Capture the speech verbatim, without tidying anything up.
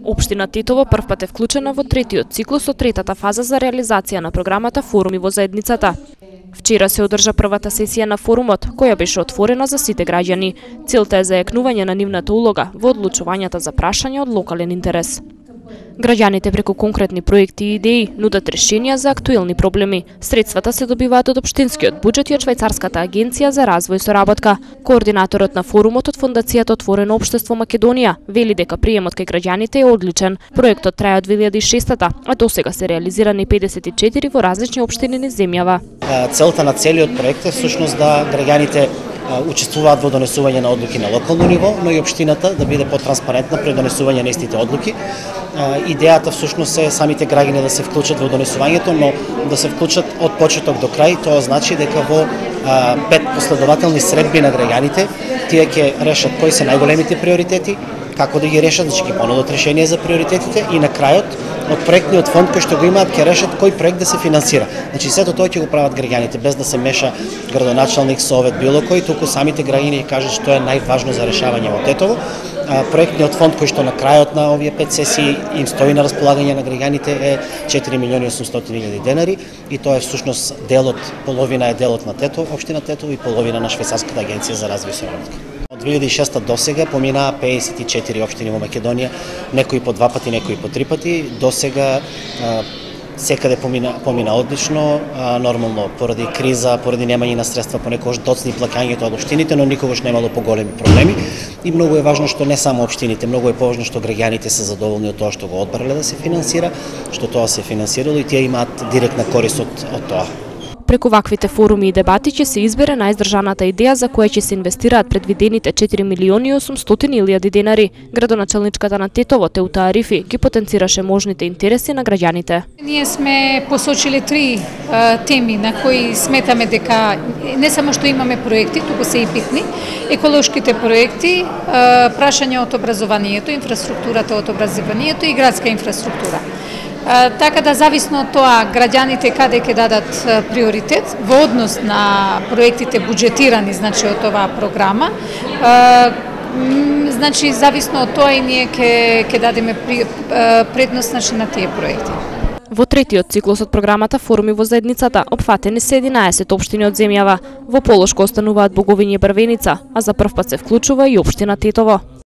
Општина Тетово првпат е вклучена во третиот циклус од третата фаза за реализација на програмата Форуми во заедницата. Вчера се одржа првата сесија на форумот, која беше отворена за сите граѓани. Целта е зајакнување на нивната улога во одлучувањата за прашања од локален интерес. Граѓаните преку конкретни проекти и идеи нудат решенија за актуелни проблеми. Средствата се добиваат од општинскиот буџет и од Швајцарската агенција за развој и соработка. Координаторот на форумот од Фондацијата Отворено општество Македонија вели дека приемот кај граѓаните е одличен. Проектот трае од две илјади и шестата, а досега се реализирани педесет и четири во различни општини низ земјава. Целта на целиот проект е всушност да граѓаните учествуваат во донесување на одлуки на локално ниво, но и општината да биде потранспарентна при донесување на истите одлуки. Идејата всушност е самите граѓани да се вклучат во донесувањето, но да се вклучат од почеток до крај. Тоа значи дека во пет последователни средби на граѓаните тие ќе решат кои се најголемите приоритети, како да ги решат, значи ќе понудат решение за приоритетите и на крајот од проектниот фонд кој што го имаат ќе решат кој проект да се финансира. Значи сето тоа ќе го прават граѓаните без да се меша градоначалник, совет, било кој, туку самите граѓани ќе кажат што е најважно за решавање во Тетово. Проектниот фонд кој што на крајот на овие пет сесии им стои на располагање на граѓаните е четири милиони и осумстотини илјади денари и тоа е всушност делот, половина е делот на Тетово, општина Тетово и половина на Швајцарската агенција за развој и соработка. Од две илјади и шеста досега поминаа педесет и четири општини во Македонија, некои по два пати, некои по три пати. Досега секаде помина, помина одлично, а, нормално поради криза, поради немање на средства, понекогаш доцни плаќањето од општините, но никогаш немало поголеми проблеми. И многу е важно што не само општините, многу е поважно што граѓаните се задоволни од тоа што го одбрале да се финансира, што тоа се финансирало и тие имаат директна корист од, од тоа. Преку ваквите форуми и дебати ќе се избере најздржаната идеја за која ќе се инвестираат предвидените четири милиони и осумстотини илјади денари. Градоначалничката на Тетово Теута Арифи ги потенцираше можните интереси на граѓаните. Ние сме посочили три а, теми на кои сметаме дека не само што имаме проекти, туку се и битни. Еколошките проекти, а, прашања од образованието, инфраструктурата од образованието и градска инфраструктура. Така да зависно од тоа граѓаните каде ќе дадат приоритет во однос на проектите буџетирани, значи од оваа програма, значи зависно од тоа и ние ќе ќе дадеме предност значи на тие проекти. Во третиот циклус од програмата Форуми во заедницата опфатени се единаесет општини од земјава. Во Полошко остануваат Боговиње и Брвеница, а за првпат се вклучува и општина Тетово.